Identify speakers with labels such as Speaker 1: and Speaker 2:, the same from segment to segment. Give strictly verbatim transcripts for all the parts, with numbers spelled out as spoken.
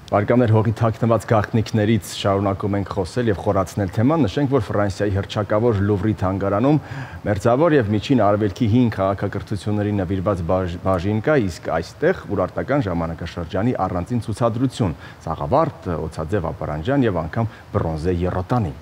Speaker 1: Բարեկամներ, հողի թաքնված գաղտնիքներից շարունակում ենք խոսել եւ խորացնել թեման, նշենք, որ Ֆրանսիայի հռչակավոր Լուվրի թանգարանում մերձավոր եւ միջին արևելքի հին քաղաքակրթությունների նվիրված բաժին կա, իսկ այստեղ ուրարտական ժամանակաշրջանի առանձին ցուցադրություն, սաղավարտ, օձաձև ապարանջան եւ անգամ բրոնզե եռոտանի։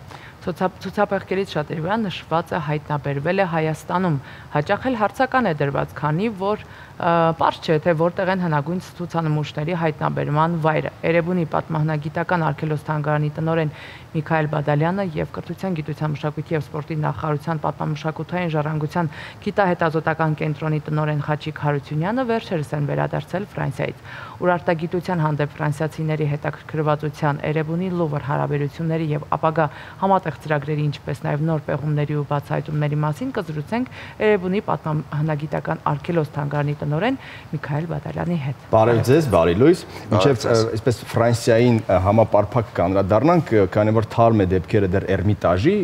Speaker 2: Ցուցափեղկերից շատերի վրա նշվածը հայտնաբերվել է Հայաստանում, հաճախ էլ հարցական է դրված, քանի որ պարզ չէ, թե որտեղ են հնագույն ցուցանմուշների հայտնաբերման վայրը։ Էրեբունի պատմահնագիտական արգելոց-թանգարանի տնօրեն Միքայել Բադալյանը եւ Կրթության, գիտության, մշակույթի եւ սպորտի նախարարության պատմամշակութային ժառանգության գիտահետազոտական կենտրոնի տնօրեն Խաչիկ Հարությունյանը վերջերս են վերադարձել Ֆրանսիայից։ Ուրարտագիտության հանդեպ ֆրանսիացիների հետաքրքրվածության, Էրեբունի Լուվր հարաբերությունների եւ ապագա համատեղ ծրագրերի, ինչպես նաեւ նոր պեղումների ու բացահայտումների մասին կզրուցենք Էրեբունի պատմահնագիտական արգելոց-թանգարանի տնօրեն Միքայել Բադալյանի հետ։
Speaker 1: Բարև ձեզ, բարի լույս։ Մինչև այսպես Ֆրանսիային համապարփակ կանրադառնանք, քանի որ թարմ է դեպքերը դեռ Էրմիտաժի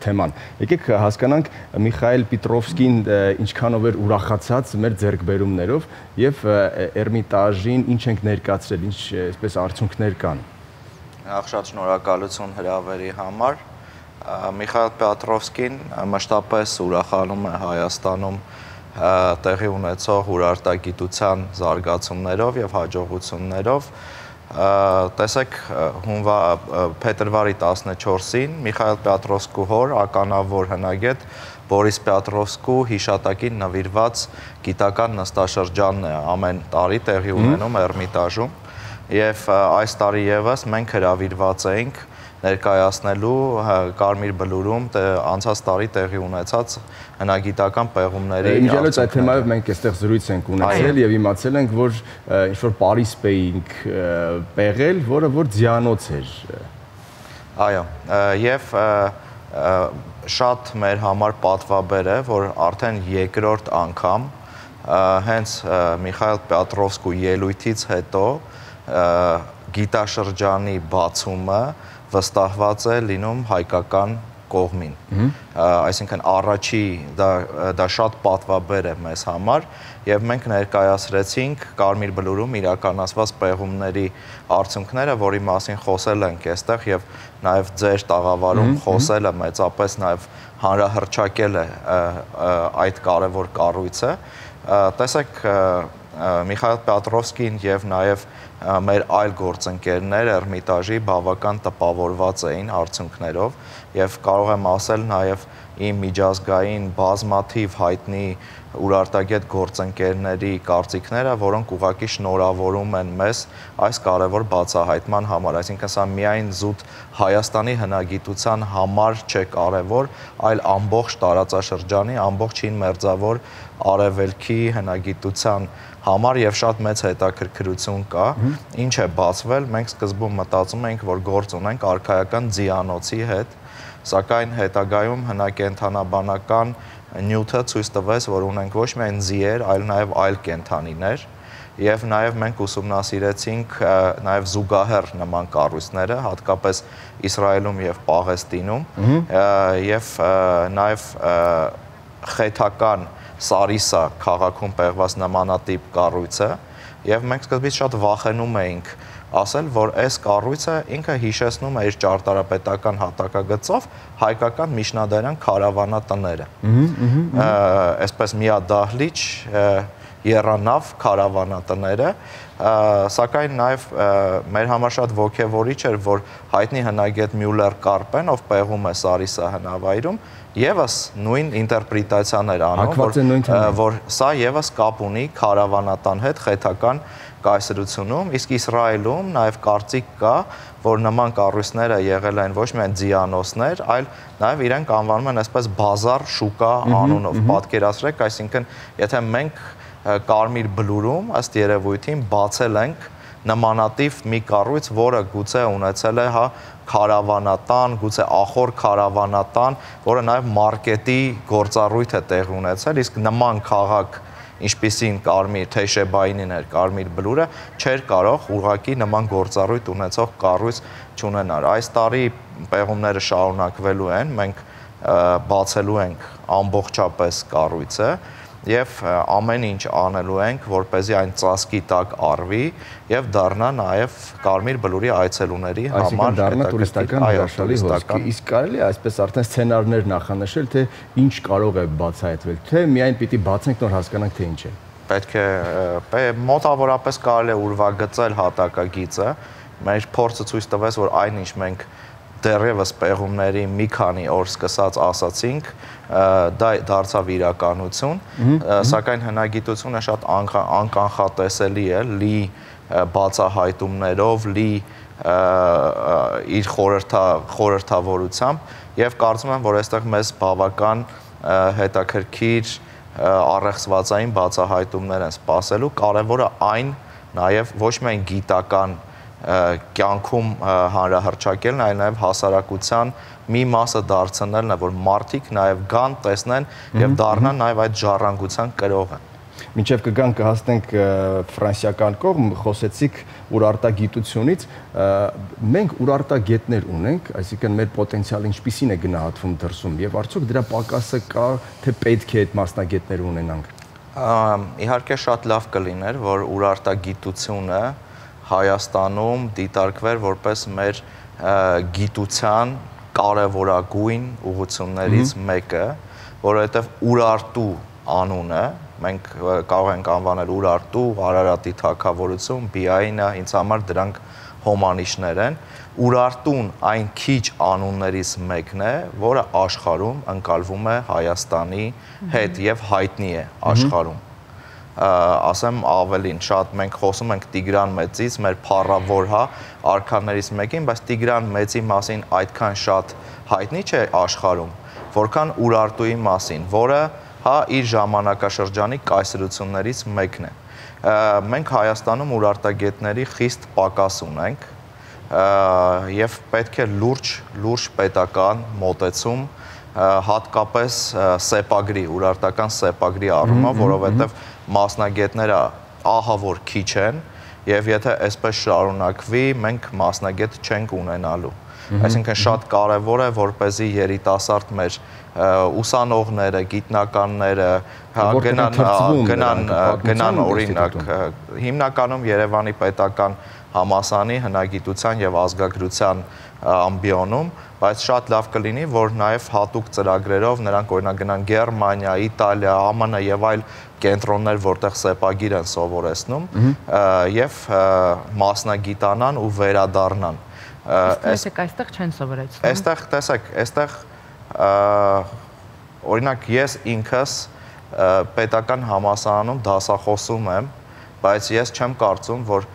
Speaker 1: թեման։ Եկեք հասկանանք Միխայել Պիտրովսկին ինչքանով էր ուրախացած մեր ձեռքբերումներով եւ Էրմիտաժին ինչ ենք ներկայացրել, ինչ այսպես արդյունքներ կան։
Speaker 3: Շատ շնորհակալություն հրավերի համար։ Միխայել Պիտրովսկին մշտապես ուրախանում է Հայաստանում տեղի ունեցող ուրարտագիտության զարգացումներով եւ հաջողություններով։ Տեսեք, փետրվարի տասնչորսին Միխայել Պիտրովսկու հոր ականավոր հնագետ Բորիս Պիտրովսկու հիշատակին նվիրված գիտական նստաշրջանն է ամեն տարի տեղի ունենում Էրմիտաժում եւ այս տարի եւս մենք հրավիրված էինք ներկայացնելու Կարմիր Բլուրում անցած տարի տեղի ունեցած հնագիտական պեղումների
Speaker 1: Իմիջիայլոց այդ թեմայով մենք այստեղ զրույց ենք ունեցել եւ իմացել ենք, որ ինչ-որ Պարիսպ էինք պեղել, որը որ ձիանոց էր։
Speaker 3: Այո, եւ շատ մեր համար պատվաբեր է, որ արդեն երկրորդ անգամ հենց Միխայել Պիտրովսկու ելույթից հետո գիտաշրջանի բացումը վստահված է լինում հայկական կողմին, այսինքն առաջի դա շատ պատվաբեր է մեզ համար եւ մենք ներկայացրեցինք Կարմիր Բլուրում իրականացված պեղումների արդյունքները, որի մասին խոսել ենք այստեղ եւ նաեւ ձեր տաղավարում խոսելը մեծապես նաեւ հանրահռչակել է այդ կարևոր կառույցը։ Տեսեք, Միխայել Պիտրովսկին եւ նաեւ մեր այլ գործընկերներ Էրմիտաժի բավական տպավորված էին արդյունքներով եւ կարող եմ ասել նաեւ իմ միջազգային բազմաթիվ հայտնի ուրարտագետ գործընկերների կարծիքները, որոնք ուղղակի շնորհավորում են մեզ այս կարևոր բացահայտման համար, այսինքն սա միայն զուտ Հայաստանի հնագիտության համար չէ կարևոր, այլ ամբողջ տարածաշրջանի, ամբողջ հին մերձավոր արևելքի հնագիտության համար եւ շատ մեծ հետաքրքրություն կա, ինչ է բացվել, մենք սկզբում մտածում էինք, որ գործ ունենք արքայական ձիանոցի հետ, սակայն հետագայում հնակենդանաբանական նյութը ցույց տվեց, որ ունենք ոչ միայն ձիեր, այլ նաեւ այլ կենդանիներ եւ նաեւ մենք ուսումնասիրեցինք նաեւ զուգահեռ նման կառույցները, հատկապես Իսրայելում եւ Պաղեստինում եւ նաեւ խեթական Սարիսա քաղաքում պեղված նմանատիպ կառույցը եւ մենք սկզբից շատ վախենում էինք ասել, որ այս կառույցը ինքը հիշեցնում է իր ճարտարապետական հատակագծով հայկական միջնադարյան քարավանատները։ Այսպես միադահլիճ եռանավ քարավանատները, սակայն նաև մեր համար շատ ոգևորիչ էր, որ հայտնի հնագետ Մյուլլեր Կարպեն, ով պեղում է Սարիսա հնավայրում, եւս նույն ինտերպրետացիան էր անում, որ սա եւս կապ ունի քարավանատան հետ խեթական կայսրությունում, իսկ Իսրայելում նաև կարծիք կա, որ նման կառույցները եղել են ոչ միայն ձիանոցներ, այլ նաև իրենք անվանում են այսպես բազար շուկա անունով։ Պատկերացրեք, այսինքն, եթե մենք Կարմիր Բլուրում ըստ երևույթին բացել ենք նմանատիպ մի կառույց, որը գուցե ունեցել է հա քարավանատան, գուցե ախոր քարավանատան, որը նաև մարքետի գործառույթ է տեղի ունեցել, իսկ նման քաղաք, ինչպիսին Կարմիր Թեշեբայինին էր Կարմիր Բլուրը, չէր կարող ուղղակի նման գործառույթ ունեցող կառույց չունենալ։ Այս տարի պեղումները շարունակվելու են, մենք բացելու ենք ամբողջապես կառույցը եւ ամեն ինչ անելու ենք, որպեսզի այն ծածկի տակ արվի եւ դառնա նաեւ Կարմիր Բլուրի այցելուների համար
Speaker 1: դառնա տուրիստական հրաշալի հոսք։ Իսկ կարելի է այսպես արդեն սցենարներ նախանշել, թե ինչ կարող է բացահայտվել, թե միայն պիտի բացենք, նոր հասկանանք, թե ինչ է։
Speaker 3: Պետք է մոտավորապես կարելի է ուրվագծել հատակագիծը։ Մեր փորձը ցույց տվեց, որ այնինչ մենք դեռևս պեղումների մի քանի օր սկսած ասացինք, դա դարձավ իրականություն, սակայն հնագիտությունը շատ անկանխատեսելի է, լի բացահայտումներով, լի իր խորհրդավորությամբ եւ կարծում եմ, որ այստեղ մեզ բավական հետաքրքիր առեղծվածային բացահայտումներ են սպասելու, կարևորը այն նաեւ ոչ միայն գիտական կյանքում հանրահռչակելն, այլ նաև հասարակության մի մասը դարձնելն է, որ մարդիկ նաև գան, տեսնեն եւ դառնան նաև այդ ժառանգության կրողը։
Speaker 1: Մինչև կգանք կհասնենք ֆրանսիական կողմ, խոսեցիք ուրարտագիտությունից, մենք ուրարտագետներ ունենք, այսինքն մեր պոտենցիալը ինչպիսին է գնահատվում դրսում եւ արդյոք դրա պակասը կա, թե պետք է այդ մասնագետներ ունենանք։
Speaker 3: Իհարկե շատ լավ կլիներ, որ ուրարտագիտությունը Հայաստանում դիտարկվեր որպես մեր գիտության կարևորագույն ուղղություններից մեկը, որովհետև Ուրարտու անունը մենք կարող ենք անվանել Ուրարտու, Արարատի թագավորություն, Բիայինը, ինձ համար դրանք հոմանիշներ են։ Ուրարտուն այն քիչ անուններից մեկն է, որը աշխարհում ընկալվում է Հայաստանի հետ եւ հայտնի է աշխարհում։ Ասեմ ավելին, շատ մենք խոսում ենք Տիգրան Մեծից, մեր փառավոր հա արքաներից մեկին, բայց Տիգրան Մեծի մասին այդքան շատ հայտնի չէ աշխարհում, որքան Ուրարտուի մասին, որը հա իր ժամանակաշրջանի կայսրություններից մեկն է։ Մենք Հայաստանում ուրարտագետների խիստ պակաս ունենք եւ պետք է լուրջ լուրջ պետական մոտեցում հատկապես սեպագրի, ուրարտական սեպագրի առումով, որովհետև մասնագետները ահա որ քիչ են եւ եթե այսպես շարունակվի, մենք մասնագետ չենք ունենալու։ Այսինքն շատ կարեւոր է, որպեսզի երիտասարդ մեր ուսանողները, գիտնականները գնան գնան գնան օրինակ հիմնականում Երևանի պետական համալսարանի հնագիտության եւ ազգագրության ամբիոնում, բայց շատ լավ կլինի, որ նաև հատուկ ծրագրերով նրանք օրինակ գնան Գերմանիա, Իտալիա, ԱՄՆ եւ այլ կենտրոններ, որտեղ սեպագիր են սովորեցնում եւ մասնագիտանան ու վերադառնան։
Speaker 2: Իսկ այստեղ չեն սովորեցնում։
Speaker 3: Այստեղ տեսեք, այստեղ օրինակ ես ինքս պետական համալսարանում դասախոսում եմ, բայց ես չեմ կարծում, որ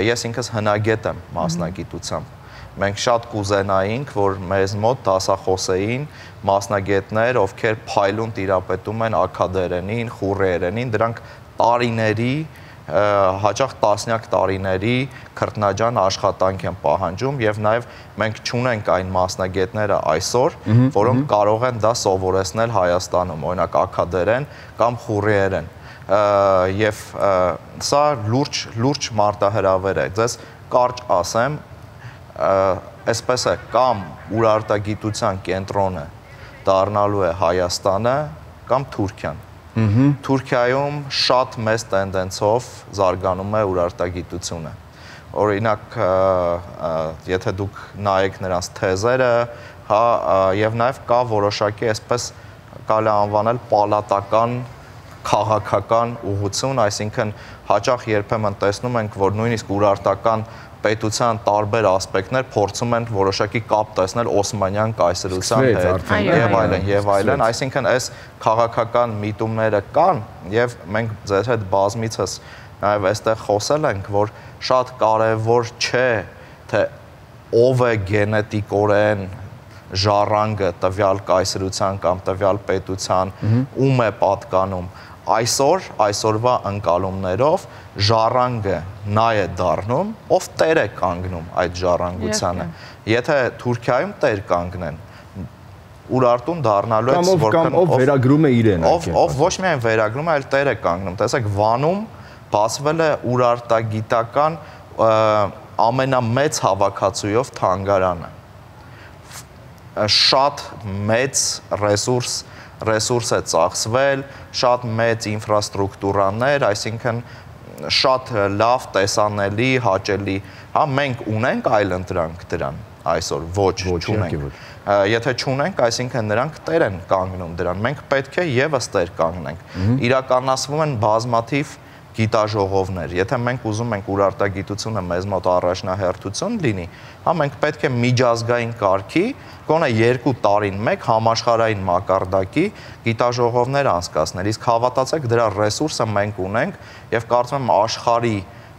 Speaker 3: ես ինքս հնագետ եմ մասնագիտությամբ։ Մենք շատ կուզենայինք, որ մեզ մոտ դասախոսեին մասնագետներ, ովքեր փայլուն տիրապետում են աքադերենին, խուռերենին, դրանք տարիների, հաճախ տասնյակ տարիների քրտնաջան աշխատանք են պահանջում եւ նաեւ մենք չունենք այն մասնագետները այսօր, որոնք կարող են դա սովորեցնել Հայաստանում, օրինակ աքադերեն կամ խուռերեն։ Եվ սա լուրջ լուրջ մարտահրավեր է։ Ձեզ կարճ ասեմ, այսպես է, կամ ուրարտագիտության կենտրոնը դառնալու է Հայաստանը կամ Թուրքիան։ Թուրքիայում շատ մեծ տենդենսով զարգանում է ուրարտագիտությունը։ Օրինակ, եթե դուք նայեք նրանց թեզերը, հա, եւ նաեւ կա որոշակի այսպես կարելի անվանել պալատական քաղաքական ուղղություն, այսինքն հաճախ երբեմն տեսնում ենք, որ նույնիսկ ուրարտական պետության տարբեր ասպեկտներ փորձում են որոշակի կապ տեսնել Օսմանյան կայսրության հետ եւ այլն եւ այլն, այսինքն այս քաղաքական միտումները կան եւ մենք ձեր հետ բազմիցս նաեւ այստեղ խոսել ենք, որ շատ կարեւոր չէ, թե ով է գենետիկորեն ժառանգը տվյալ կայսրության կամ տվյալ պետության, ում է պատկանում։ Այսօր, այսօրվա ընկալումներով ժառանգը նա է դառնում, ով տեր է կանգնում այդ ժառանգությանը։ Եթե Թուրքիայում տեր կանգնեն, Ուրարտուն դառնալու է
Speaker 1: որքան ով վերագրում է իրեն,
Speaker 3: ով ոչ միայն վերագրում է, այլ տեր է կանգնում։ Տեսեք, Վանում բացվել է ուրարտագիտական ամենամեծ հավաքածուով թանգարանը։ Շատ մեծ ռեսուրս ռեսուրս է ծախսվել, շատ մեծ ինֆրաստրուկտուրաներ, այսինքն շատ լավ, տեսանելի, հաճելի, հա մենք ունենք այլ ընտրանք դրան այսօր, ոչ, չունենք։ Եթե չունենք, այսինքն նրանք տեր են կանգնում դրան, մենք պետք է եւս տեր կանգնենք։ Իրականացվում են բազմաթիվ գիտաժողովներ, եթե մենք ուզում ենք ուրարտագիտությունը մեզ մոտ առաջնահերթություն լինի, հա մենք պետք է միջազգային կարգի, գոնե երկու տարին մեկ համաշխարհային մակարդակի գիտաժողովներ անցկացնել, իսկ հավատացեք դրա ռեսուրսը մենք ունենք եւ կարծում եմ աշխարհի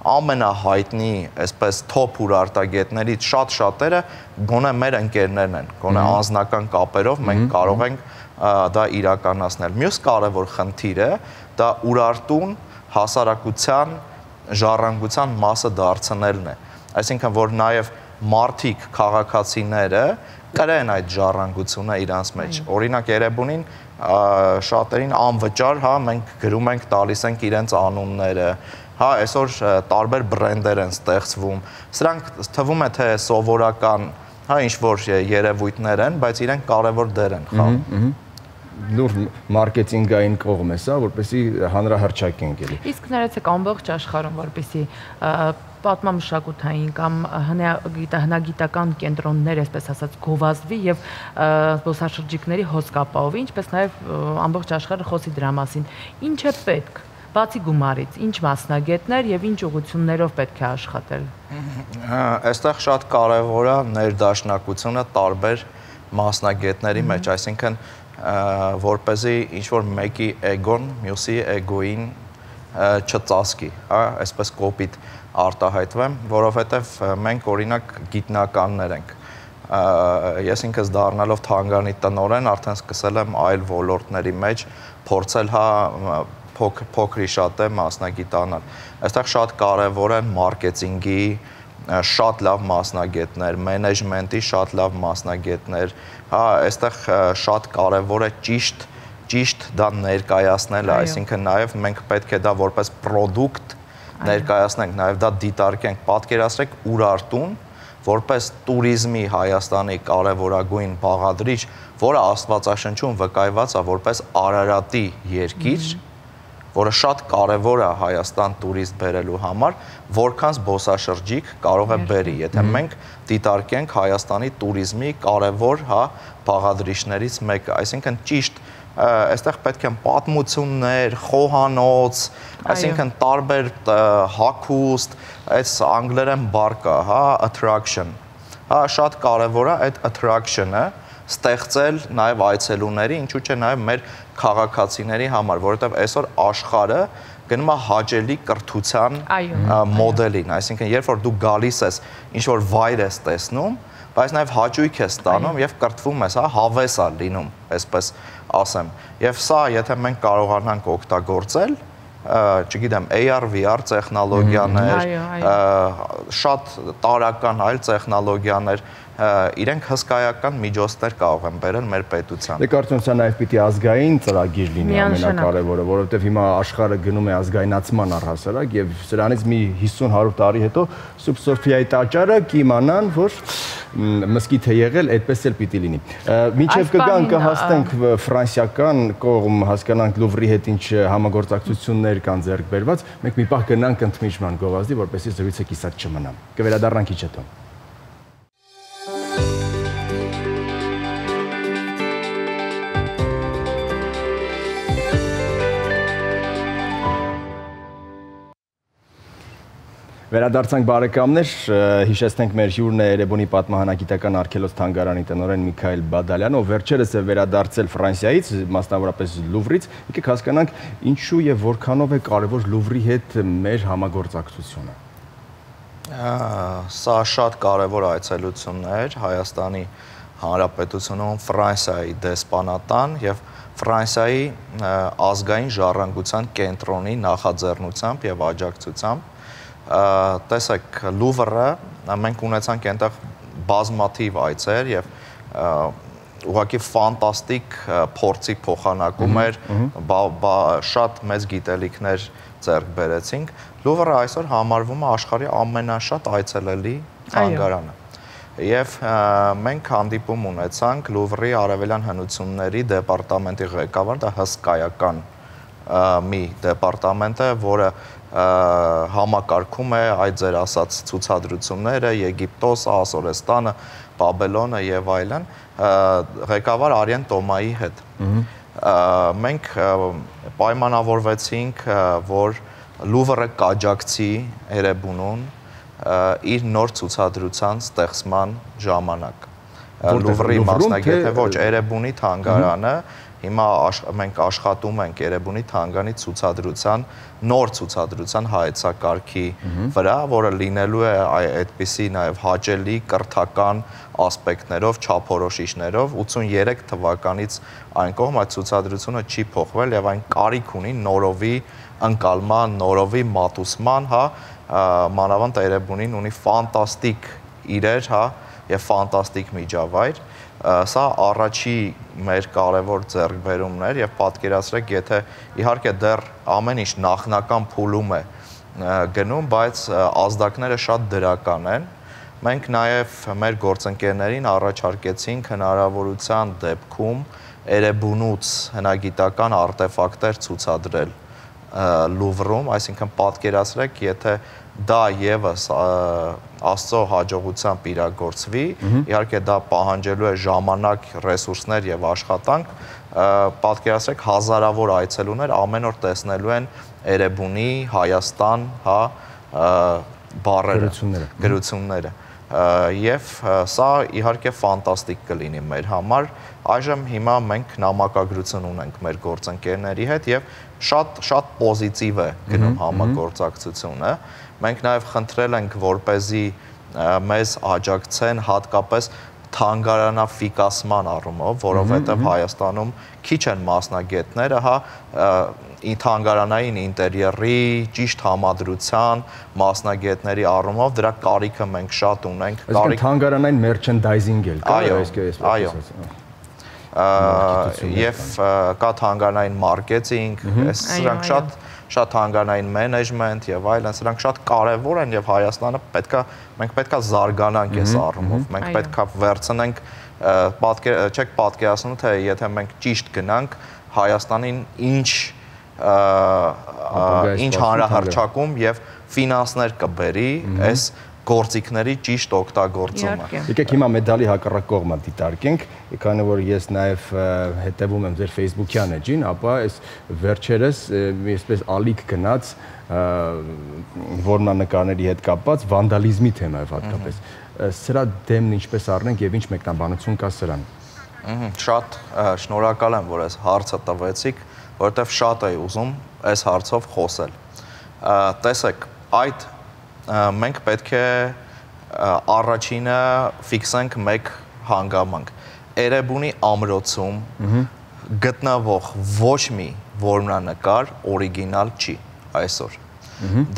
Speaker 3: ամենահայտնի, այսպես top ուրարտագետներից շատ շատերը գոնե մեր ընկերներն են, գոնե անձնական կապերով մենք կարող ենք դա իրականացնել։ Մյուս կարևոր խնդիրը դա Urartun հասարակության ժառանգության մասը դարձնելն է, այսինքն որ նաև մարդիկ, քաղաքացիները կրեն այդ ժառանգությունը իրանց մեջ։ Օրինակ Երևանին շատերին անվճար, հա, մենք գրում ենք, տալիս ենք իրենց անունները, հա, այսօր տարբեր բրենդեր են ստեղծվում։ Սրանք թվում է թե սովորական, հա, ինչ որ երևույթներ են, բայց իրենք կարևոր դեր են խաղում։
Speaker 1: Նոր մարքեթինգային կողմ է սա, որպեսզի հանրահռչակ ենք էլի։
Speaker 2: Իսկ ներեցեք ամբողջ աշխարհում, որպեսզի պատմամշակութային կամ հնագիտական կենտրոններ, այսպես ասած, գովազդվի եւ զբոսաշրջիկների հոսք ապահովի, ինչպես նաեւ ամբողջ աշխարհը խոսի դրա մասին։ Ինչ է պետք, բացի գումարից, ինչ մասնագետներ եւ ինչ ուղղություններով պետք է աշխատել։
Speaker 3: Այստեղ շատ կարեւոր է ներդաշնակությունը տարբեր մասնագետների մեջ, այսինքն որպեսզի ինչ-որ մեկի էգոն, մյուսի էգոին չծածկի, հա, այսպես կոպիտ արտահայտվեմ, որովհետև մենք օրինակ գիտնականներ ենք։ Ես ինքս դառնալով թանգարանի տնօրեն արդեն սկսել եմ այլ ոլորտների մեջ փորձել հա փոքրի շատ է մասնագիտանալ։ Այստեղ շատ կարևոր են մարքեթինգի շատ լավ մասնագետներ, մենեջմենտի շատ լավ մասնագետներ, հա, այստեղ շատ կարևոր է ճիշտ ճիշտ դա ներկայացնելը, այսինքն նաև մենք պետք է դա որպես product ներկայացնենք, նաև դա դիտարկենք, պատկերացրեք Urartun որպես туриզմի Հայաստանի կարևորագույն բաղադրիչ, որը Աստվածաշնչում վկայված է որպես Արարատի երկիր, որը շատ կարևոր է Հայաստան տուրիստ բերելու համար, որքան զբոսաշրջիկ կարող է բերի, եթե մենք դիտարկենք Հայաստանի туриզմի կարևոր, հա, բաղադրիչներից մեկը, այսինքն ճիշտ այստեղ պետք են պատմություններ, խոհանոց, այսինքն տարբեր հագուստ, այս անգլերեն բառ կա, հա, attraction, հա, շատ կարևոր է այդ attraction-ը ստեղծել նաև այցելուների, ինչու՞ չէ նաև մեր քաղաքացիների համար, որովհետև այսօր աշխարհը գնում է հաճելի կրթության մոդելին, այսինքն երբ որ դու գալիս ես, ինչ որ վայր ես տեսնում, բայց նաև հաճույք ես ստանում եւ կրթվում ես, հա, հավես է լինում, այսպես ասեմ։ Եվ սա, եթե մենք կարողանանք օգտագործել, չգիտեմ, A R V R տեխնոլոգիաներ, շատ տարական այլ տեխնոլոգիաներ, իրենք հսկայական միջոցներ կարող են բերել մեր պետության։
Speaker 1: Դե կարծում եմ սա նաև պիտի ազգային ծրագիր լինի ամենակարևորը, որովհետև հիմա աշխարհը գնում է ազգայնացման առհասարակ եւ սրանից մի հիսուն հարյուր տարի հետո Սուրբ Սոֆիայի տաճարը կիմանան, որ մզկիթ է եղել, այդպես էլ պիտի լինի։ Մինչև կգան կհաստենք ֆրանսիական կողմ, հասկանանք Լուվրի հետ ինչ համագործակցություններ կան ձեռք բերված, մենք մի պահ գնանք ընդմիջման գովազդի, որպեսզի զրույցը կիսատ չմնա։ Կվերադառնանք քիչ հետո։ Վերադարձանք բարեկամներ, հիշեցնենք մեր հյուրն է Երևանի պատմահանագիտական արգելոց թանգարանի տնօրեն Միքայել Բադալյանը, ով վերջերս է վերադարձել Ֆրանսիայից, մասնավորապես Լուվրից։ Եկեք հասկանանք ինչու եւ որքանով է կարեւոր Լուվրի հետ մեր համագործակցությունը։
Speaker 3: Սա շատ կարևոր այցելություններ Հայաստանի Հանրապետությունում Ֆրանսիայի դեսպանատան եւ Ֆրանսիայի ազգային ժառանգության կենտրոնի նախաձեռնությամբ եւ աջակցությամբ տեսեք Լուվրը մենք ունեցանք այնտեղ բազմաթիվ այցեր եւ ուղղակի ֆանտաստիկ փորձի փոխանակում էր, շատ մեծ գիտելիքներ ձեռք բերեցինք։ Լուվրը այսօր համարվում է աշխարհի ամենաշատ այցելելի թանգարանը։ Եվ մենք հանդիպում ունեցանք Լուվրի արևելյան հնությունների դեպարտամենտի ղեկավար, դա հսկայական մի դեպարտամենտ է, որը համակարգում է այդ ձեր ասած ցուցադրությունները, Եգիպտոս, Ասորեստանը, Բաբելոնը եւ այլն, ղեկավար Արիեն Տոմայի հետ։ Մենք պայմանավորվեցինք, որ Լուվրը կաջակցի Էրեբունուն իր նոր ցուցադրության ստեղծման ժամանակ։ Լուվրի մասնագետը ոչ, Էրեբունի թանգարանը, հիմա մենք աշխատում ենք Էրեբունի թանգարանի ցուցադրության, նոր ցուցադրության հայեցակարգի վրա, որը լինելու է այդպիսի նաև հաճելի կրթական ասպեկտներով, չափորոշիչներով, ութսուներեք թվականից այն կողմ այդ ցուցադրությունը չի փոխվել եւ այն կարիք ունի նորովի ընկալման, նորովի մատուցման, հա, մանավանդ Էրեբունին ունի ֆանտաստիկ իրեր, հա, եւ ֆանտաստիկ միջավայր։ Սա առաջի մեր կարևոր ձեռքբերումն էր եւ պատկերացրեք, եթե իհարկե դեռ ամեն ինչ նախնական փուլում է գնում, բայց ազդակները շատ դրական են։ Մենք նաեւ մեր գործընկերներին առաջարկեցինք հնարավորության դեպքում Էրեբունուց հնագիտական արտեֆակտներ ցուցադրել Լուվրում, այսինքն պատկերացրեք, եթե դա եւս Աստծո հաջողությամբ իրագործվի, իհարկե դա պահանջելու է ժամանակ, ռեսուրսներ եւ աշխատանք, պատկերացրեք հազարավոր այցելուներ ամեն օր տեսնելու են Էրեբունի, Հայաստան, հա, բառերը, գրությունները։ Եվ սա իհարկե ֆանտաստիկ կլինի մեր համար։ Այժմ հիմա մենք նամակագրություն ունենք մեր գործընկերների հետ եւ շատ շատ պոզիտիվ է գնում համագործակցությունը։ Մենք նաև խնդրել ենք, որպեսզի մեզ աջակցեն հատկապես թանգարանաֆիկասման առումով, որովհետև Հայաստանում քիչ են մասնագետները, հա, թանգարանային ինտերիերի, ճիշտ համադրության մասնագետների առումով դրա կարիքը մենք շատ ունենք։
Speaker 1: Այսինքն թանգարանային մերչենդայզինգ էլ կա, այսպես
Speaker 3: այո։ Եվ կա թանգարանային մարքեթինգ, սրանք շատ շատ թանգարանային մենեջմենտ եւ այլն, սրանք շատ կարեւոր են եւ Հայաստանը պետքա մենք պետքա զարգանանք այս առումով, մենք պետքա վերցնենք, չեք պատկերացնում, թե եթե մենք ճիշտ գնանք Հայաստանին ինչ ինչ հանրահռչակում եւ ֆինանսներ կբերի այս գործիքների ճիշտ օգտագործումը։
Speaker 1: Եկեք հիմա մեդալի հակառակ կողմը դիտարկենք, քանի որ ես նաև հետևում եմ ձեր Facebook-յան էջին, ապա այս վերջերս այսպես ալիք գնաց որմնանկարների հետ կապված վանդալիզմի թեմայով հատկապես։ Սրա դեմն ինչպես առնենք եւ ինչ մեկնաբանություն կա սրան։
Speaker 3: Շատ շնորհակալ եմ, որ այս հարցը տվեցիք, որովհետեւ շատ էի ուզում այս հարցով խոսել։ Տեսեք, այդ մենք պետք է առաջինը ֆիքսենք մեկ հանգամանք։ Էրեբունի ամրոցում գտնվող ոչ մի որմնանկար օրիգինալ չի այսօր։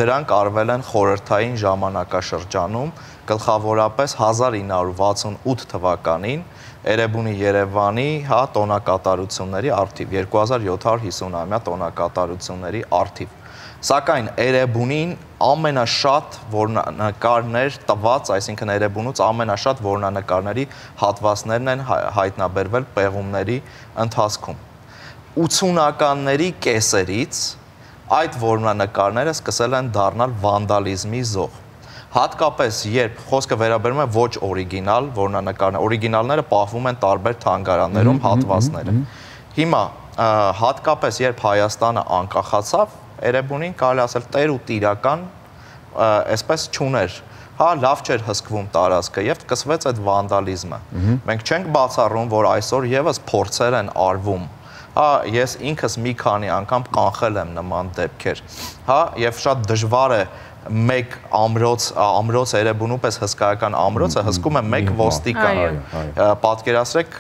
Speaker 3: Դրանք արվել են խորհրդային ժամանակաշրջանում, գլխավորապես հազար ինը հարյուր վաթսունութ թվականին Էրեբունի Երևանի, հա, տոնակատարությունների արդիվ, երկու հազար յոթ հարյուր հիսուն-ամյա տոնակատարությունների արդիվ։ Սակայն Էրեբունին ամենաշատ որմնանկարներ տված, այսինքն Էրեբունուց ամենաշատ որմնանկարների հատվածներն են հայտնաբերվել պեղումների ընթացքում։ ութսունականների կեսերից այդ որմնանկարները սկսել են դառնալ վանդալիզմի զոհ։ Հատկապես երբ խոսքը վերաբերում է ոչ օրիգինալ որմնանկարներ, օրիգինալները պահվում են տարբեր թանգարաններում հատվածները։ Հիմա հատկապես երբ Հայաստանը անկախացավ, Էրեբունին կարելի ասել տեր ու տիրական այսպես չուներ, հա, լավ չէր հսկվում տարածքը եւ սկսվեց այդ վանդալիզմը։ Մենք չենք բացառում, որ այսօր եւս փորձեր են արվում, հա, ես ինքս մի քանի անգամ կանխել եմ նման դեպքեր, հա, եւ շատ դժվար է մեկ ամրոց ամրոց Էրեբունու պես հսկայական ամրոցը հսկում է մեկ ոստիկան։ Պատկերացրեք,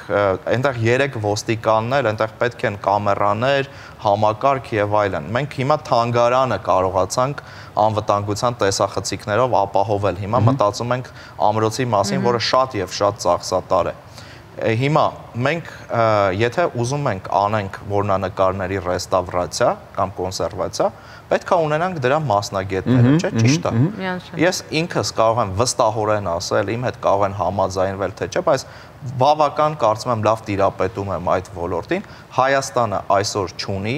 Speaker 3: այնտեղ երեք ոստիկաններ, այնտեղ պետք են կամերաներ, համակարգ եւ այլն։ Մենք հիմա թանգարանը կարողացանք անվտանգության տեսախցիկներով ապահովել։ Հիմա մտածում ենք ամրոցի մասին, որը շատ եւ շատ ծախսատար է։ Հիմա մենք եթե ուզում ենք անենք որմնանկարների ռեստավրացիա կամ կոնսերվացիա, պետք է ունենանք դրա մասնագետները, չէ՞, ճիշտ է։ Ես ինքս կարող եմ վստահորեն ասել, իմ հետ կարող են համաձայնվել, թե չէ, բայց բավական կարծում եմ լավ տիրապետում եմ այդ ոլորտին։ Հայաստանը այսօր չունի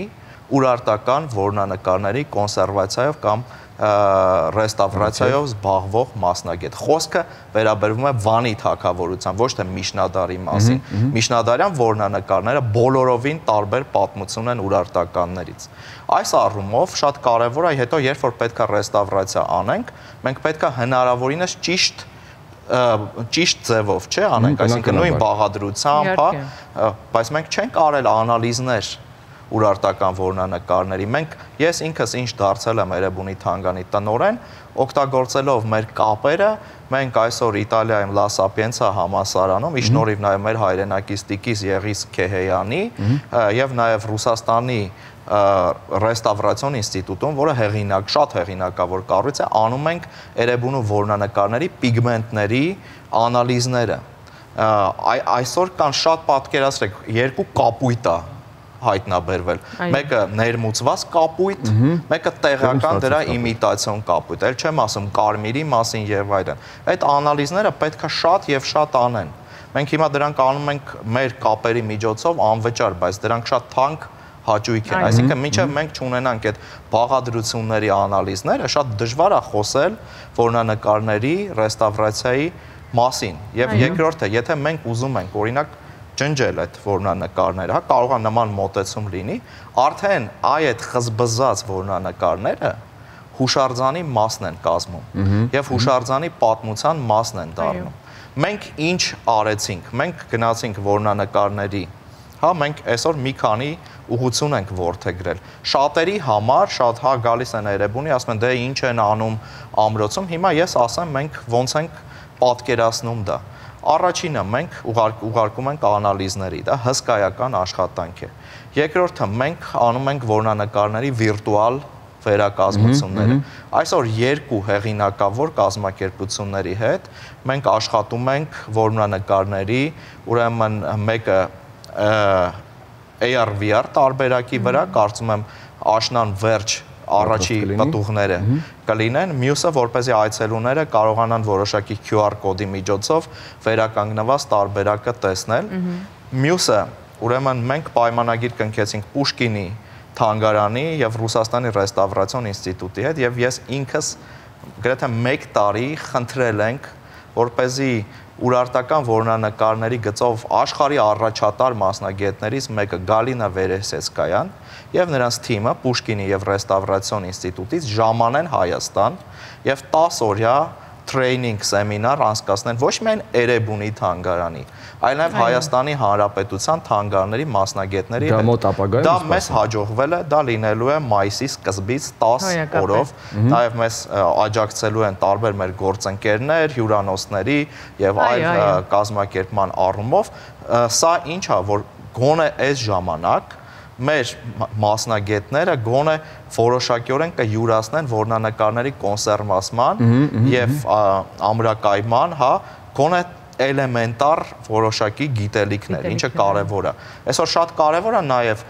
Speaker 3: ուրարտական որմնանկարների կոնսերվացիայով կամ ռեստավրացիայով զբաղվող մասնագետ։ Խոսքը վերաբերվում է Վանի թագավորության, ոչ թե միջնադարի մասին։ Միջնադարյան որմնանկարները բոլորովին տարբեր պատմություն են ուրարտականներից։ Այս առումով շատ կարևոր է, հետո երբ որ պետք է ռեստավրացիա անենք, մենք պետք է հնարավորինս ճիշտ ճիշտ ձևով, չէ, անենք, այսինքն նույն բաղադրությամբ, հա, բայց մենք չենք արել անալիզներ ուրարտական որմնանկարների։ Մենք ես ինքս ինչ դարձել եմ Էրեբունի թանգանի տնօրեն, օգտագործելով մեր կապերը, մենք այսօր Իտալիայում Լա Սապիենցա համալսարանում, ի շնորհիվ նաև մեր հայրենակից Տիկիս Եղիս Քեհեյանի եւ նաև Ռուսաստանի ռեստավրացիոն ինստիտուտում, որը հեղինակ, շատ հեղինակավոր կառույց է, անում ենք Էրեբունու որմնանկարների պիգմենտների անալիզները։ Այսօր կան շատ պատկերացրեք, երկու կապույտ է հայտնաբերվել։ Մեկը ներմուծված կապույտ, մեկը տեղական դրա իմիտացիոն կապույտ։ Էլ չեմ ասում կարմիրի մասին եւ այլն։ Այդ անալիզները պետք է շատ եւ շատ անեն։ Մենք հիմա դրանք անում ենք մեր կապերի միջոցով անվճար, բայց դրանք շատ թանկ հաճույք են։ Այսինքն մինչև մենք չունենանք այդ բաղադրությունների անալիզները, շատ դժվար է խոսել որմնանկարների ռեստավրացիայի մասին։ Եվ երկրորդը, եթե մենք ուզում ենք, օրինակ, ջնջել այդ որմնանկարները, հա, կարող է նման մոտեցում լինի, արդեն այդ խզբզած որմնանկարները հուշարձանի մասն են կազմում եւ հուշարձանի պատմության մասն են դառնում։ Մենք ինչ արեցինք, մենք գնացինք որմնանկարների, հա, մենք այսօր մի քանի ուղղություն ենք որդեգրել։ Շատերի համար, շատ հա գալիս են Էրեբունի, ասում են դե ինչ են անում ամրոցում, հիմա ես ասեմ մենք ոնց ենք պատկերացնում դա։ Առաջինը մենք ուղարկում ենք անալիզների, դա հսկայական աշխատանք է։ Երկրորդը մենք անում ենք որմնանկարների վիրտուալ վերակազմությունները։ Այսօր երկու հեղինակավոր կազմակերպությունների հետ մենք աշխատում ենք որմնանկարների, ուրեմն մեկը A R V R տարբերակի վրա, կարծում եմ աշնան վերջ առաջի պտուղները կլինեն, մյուսը որպեսզի այցելուները կարողանան որոշակի Q R կոդի միջոցով վերականգնված տարբերակը տեսնել։ Մյուսը, ուրեմն մենք պայմանագիր կնքեցինք Պուշկինի թանգարանի եւ Ռուսաստանի ռեստավրացիոն ինստիտուտի հետ եւ ես ինքս գրեթե մեկ տարի խնդրել ենք, որպեսզի ուրարտական որմնանկարների գծով աշխարհի առաջատար մասնագետներից մեկը Գալինա Վերեսեցկայան եւ նրանց թիմը Պուշկինի եւ ռեստավրացիոն ինստիտուտից ժամանեն Հայաստան եւ տասը օրյա տրեյնինգ սեմինար անցկացնեն ոչ միայն Էրեբունի թանգարանի, այլ նաև Հայաստանի Հանրապետության թանգարանների մասնագետների հետ։ Դա մեզ հաջողվել է, դա լինելու է մայիսի սկզբից տասը օրով, նաև մեզ աջակցելու են տարբեր մեր գործընկերներ, հյուրանոցների եւ այլ կազմակերպման առումով։ Սա ինչ է, որ գոնե այս ժամանակ մեր մասնագետները գոնե որոշակիորեն կյուրացնեն որմնանկարների կոնսերվացման եւ ամրակայման, հա, գոնե էլեմենտար որոշակի գիտելիքներ, ինչը կարևոր է։ Այսօր շատ կարևոր է նաեւ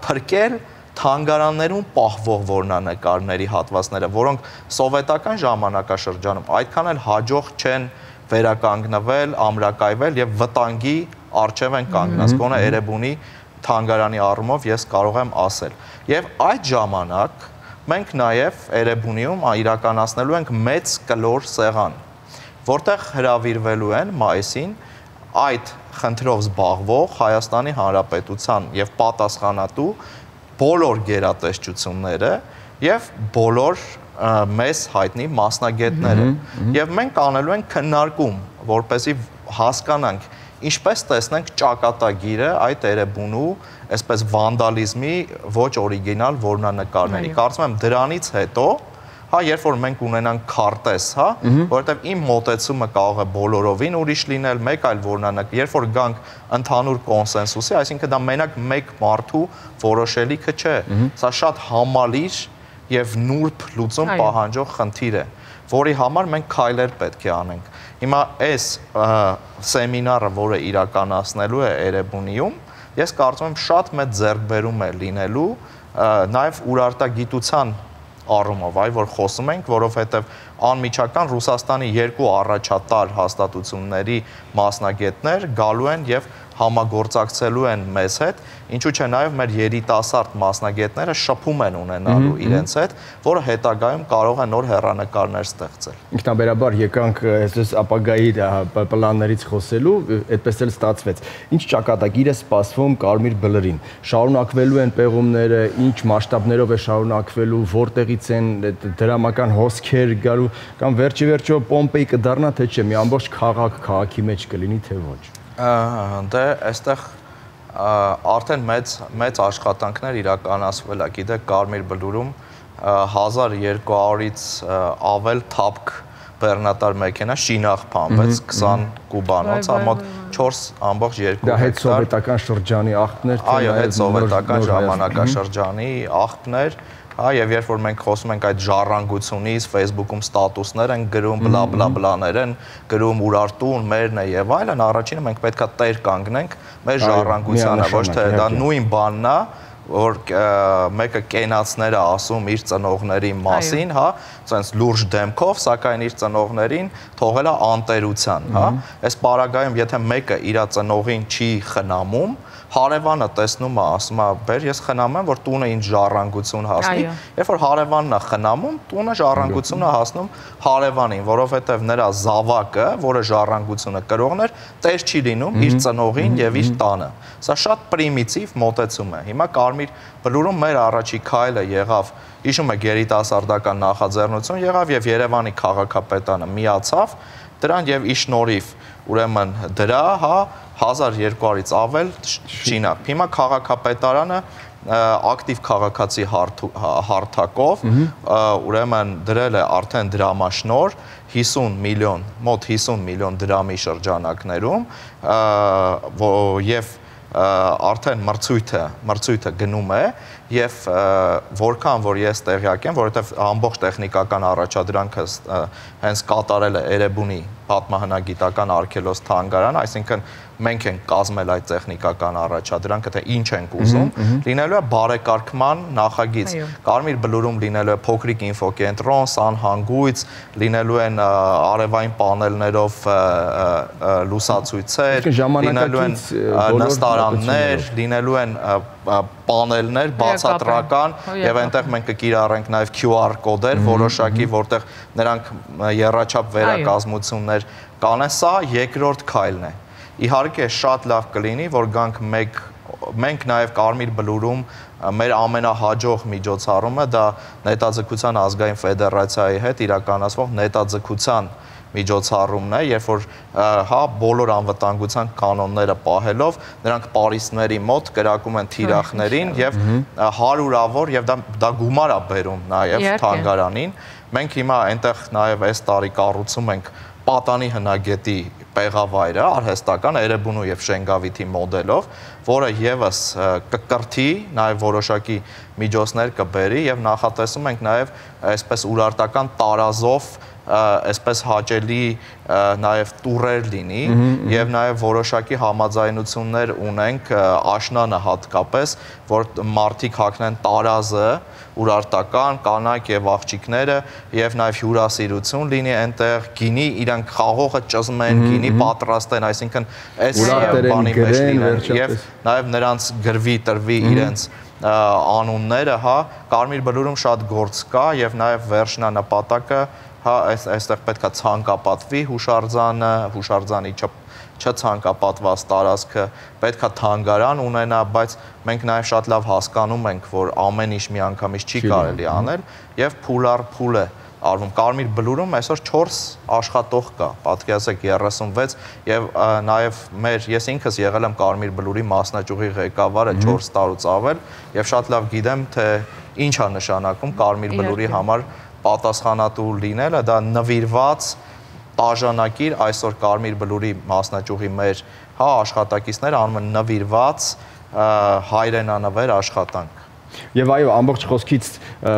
Speaker 3: փրկել թանգարաններում պահվող որմնանկարների հատվածները, որոնք սովետական ժամանակաշրջանում այդքան էլ հաջող չեն վերականգնվել, ամրակայվել եւ վտանգի առջև են կանգնած, գոնե Էրեբունի թանգարանի առումով ես կարող եմ ասել։ Եվ այդ ժամանակ մենք նաև Էրեբունիում իրականացնելու ենք մեծ կլոր սեղան, որտեղ հրավիրվելու են մայիսին այդ խնդրով զբաղվող Հայաստանի Հանրապետության եւ պատասխանատու բոլոր գերատեսչությունները եւ բոլոր մեզ հայտնի մասնագետները։ Եվ մենք անելու ենք քննարկում, որպեսզի հասկանանք ինչպես տեսնենք ճակատագիրը այդ Էրեբունու, այսպես վանդալիզմի ոչ օրիգինալ որմնանկարների։ Կարծում եմ դրանից հետո, հա, երբ որ մենք ունենանք քարտեզ, հա, որովհետև իմ մոտեցումը կարող է բոլորովին ուրիշ լինել, մեկ այլ որմնանկար, երբ որ գանք ընդհանուր կոնսենսուսի, այսինքն դա մենակ մեկ մարդու որոշելիքը չէ։ Սա շատ համալիր եւ նուրբ լուծում պահանջող խնդիր է, որի համար մենք քայլեր պետք է անենք։ Հիմա այս սեմինարը, որը իրականացնելու է Էրեբունիում, ես կարծում եմ շատ մեծ ձեռքբերում է լինելու նաև ուրարտագիտության առումով, այ որ խոսում ենք, որովհետև անմիջական Ռուսաստանի երկու առաջատար հաստատությունների մասնագետներ գալու են եւ համագործակցելու են մեզ հետ, ինչու՞ չէ նաև մեր երիտասարդ մասնագետները շփում են ունենալու իրենց հետ, որը հետագայում կարող է նոր հեռանկարներ ստեղծել։
Speaker 1: Ինքնաբերաբար եկանք այսպես ապագայի պլաններից խոսելու, այդպես էլ ստացվեց։ Ինչ ճակատագիր է սպասվում Կարմիր Բլրին։ Շարունակվելու են պեղումները, ինչ մասշտաբներով է շարունակվելու, որտեղից են դրամական հոսքեր գալու, կամ վերջի վերջո Պոմպեի կդառնա թե չէ, մի ամբողջ քաղաք քաղաքի մեջ կլինի թե ոչ։
Speaker 3: Դե այստեղ արդեն մեծ մեծ աշխատանքներ իրականացվել է, գիտեք, Կարմիր Բլուրում հազար երկու հարյուրից ավել թափք բեռնատար մեքենա շինաղ փամվեց քսան կուբանոց, մոտ չորս ամբողջ երկու
Speaker 1: հեկտար։ Դա հետ սովետական շրջանի աղբներ, թե
Speaker 3: այո, հետ սովետական ժամանակաշրջանի աղբներ։ Հա, եւ երբ որ մենք խոսում ենք այդ ժառանգությունից, Facebook-ում ստատուսներ են գրում, բլա բլա բլաներ են գրում, Ուրարտուն, մերն է եւ այլն, առաջինը մենք պետքա տեր կանգնենք մեր ժառանգությանը, ոչ թե դա նույն բանն է, որ մեկը կենացներ է ասում իր ծնողների մասին, հա, ցենց լուրջ դեմքով, սակայն իր ծնողներին թողել է անտերության, հա։ Այս պարագայում եթե մեկը իր ծնողին չի խնամում, հարևանը տեսնում է, ասում է, բեր, ես խնամեմ, որ տունը ինձ ժառանգություն հասնի, երբ որ հարևանն է խնամում, տունը ժառանգությունը հասնում հարևանին, որովհետև նրա զավակը, որը ժառանգությունը կրողն էր, տեր չի լինում իր ծնողին եւ իր տանը։ Սա շատ պրիմիտիվ մոտեցում է։ Հիմա Կարմիր Բլուրում մեր առաջի քայլը եղավ, հիշում եք, երիտասարդական նախաձեռնություն եղավ եւ Երևանի քաղաքապետարանը միացավ դրան եւ ի շնորհիվ ուրեմն դրա, հա, հազար երկու հարյուրից ավել շինակ։ Հիմա քաղաքապետարանը ակտիվ քաղաքացի հարթակով ուրեմն դրել է արդեն դրամաշնոր հիսուն միլիոն, մոտ հիսուն միլիոն դրամի շրջանակներում եւ արդեն մրցույթը մրցույթը գնում է եւ որքան որ ես տեղյակ եմ, որովհետեւ ամբողջ տեխնիկական առաջադրանքը հենց կատարել է Էրեբունի պատմահնագիտական արգելոց թանգարան, այսինքն մենք ենք կազմել այդ տեխնիկական առաջադրանքը, թե ինչ ենք ուզում, լինելու է բարեկարգման նախագիծ։ Կարմիր Բլուրում լինելու է փոքրիկ ինֆոկենտրոն, սանհանգույց, լինելու են արևային պանելներով լուսացույցեր, լինելու են նստարաններ, լինելու են պանելներ բացատրական եւ այնտեղ մենք կկիրառենք նաեւ Q R կոդեր որոշակի, որտեղ նրանք եռաչափ վերակազմություններ կանեն, սա երկրորդ քայլն է։ Իհարկե շատ լավ կլինի, որ գանք մեկ մենք նաև Կարմիր Բլուրում մեր ամենահաջող միջոցառումը դա Նետաձգության ազգային ֆեդերացիայի հետ իրականացվող նետաձգության միջոցառումն է, երբ որ հա բոլոր անվտանգության կանոնները պահելով նրանք պարիսպների մոտ կրակում են թիրախներին եւ հարյուրավոր եւ դա դա գումար է բերում նաեւ թանգարանին։ Մենք հիմա այնտեղ նաեւ այս տարի կառուցում ենք պատանի հնագետի պեղավայրը արհեստական Էրեբունու եւ Շենգավիթի մոդելով, որը եւս կկրթի, նաեւ որոշակի միջոցներ կբերի եւ նախատեսում ենք նաեւ այսպես ուրարտական տարազով այսպես հաճելի նաև տուրեր լինի եւ նաև որոշակի համաձայնություններ ունենք աշնանը հատկապես, որ մարդիկ հագնեն տարազը, ուրարտական, կանայք եւ աղջիկները եւ նաև հյուրասիրություն լինի այնտեղ, գինի իրանք խաղողը ճզմեն, գինի պատրաստեն, այսինքն այս բանի մեջ լինեն եւ նաև նրանց գրվի, տրվի իրենց անունները, հա, Կարմիր Բլուրում շատ գործ կա եւ նաև վերջնանպատակը հա այստեղ պետքա ցանկապատվի հուշարձանը, հուշարձանի չցանկապատված տարածքը պետքա թանգարան ունենա, բայց մենք նաև շատ լավ հասկանում ենք, որ ամեն ինչ միանգամից չի կարելի անել եւ փուլ առ փուլ է արվում։ Կարմիր Բլուրում այսօր չորս աշխատող կա, պատկերացրեք երեսունվեց եւ նաեւ մեր ես ինքս եղել եմ Կարմիր Բլուրի մասնաճյուղի ղեկավարը չորս տարուց ավել եւ շատ լավ գիտեմ, թե ինչ է նշանակում Կարմիր Բլուրի համար պատասխանատու լինելը, դա նվիրված տաժանակիր այսօր Կարմիր Բլուրի մասնաճյուղի մեր հա աշխատակիցները անում են նվիրված հայրենանվեր աշխատանք։
Speaker 1: Եվ այո, ամբողջ խոսքից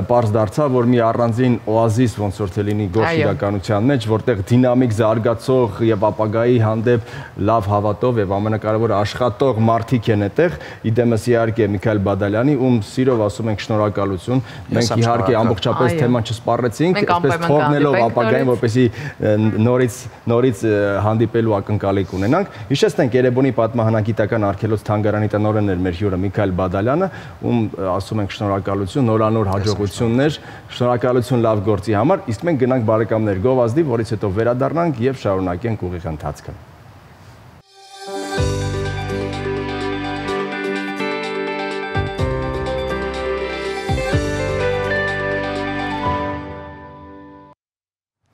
Speaker 1: պարզ դարձավ, որ մի առանձին օազիս ոնց որ թե լինի գործ իրականության մեջ, որտեղ դինամիկ զարգացող եւ ապագայի հանդեպ լավ հավատով եւ ամենակարևորը աշխատող մարդիկ են այդտեղ, իդեմս իհարկե Միքայել Բադալյանի, ում սիրով ասում ենք շնորհակալություն։ Մենք իհարկե ամբողջապես թեման չսպառեցինք, այսպես թողնելով ապագային, որպեսզի նորից նորից հանդիպելու ակնկալիք ունենանք։ Հիշեցնենք Երևանի պատմահնագիտական արգելոց թանգարանի տնօրենն էր մեր հյուրը Միքայել Բադալյանը, ում ասում ենք շնորհակալություն, նորանոր հաջողություններ, շնորհակալություն լավ գործի համար, իսկ մենք գնանք բարեկամներ գովազդի, որից հետո վերադառնանք եւ շարունակենք ուղիղ ընթացքը։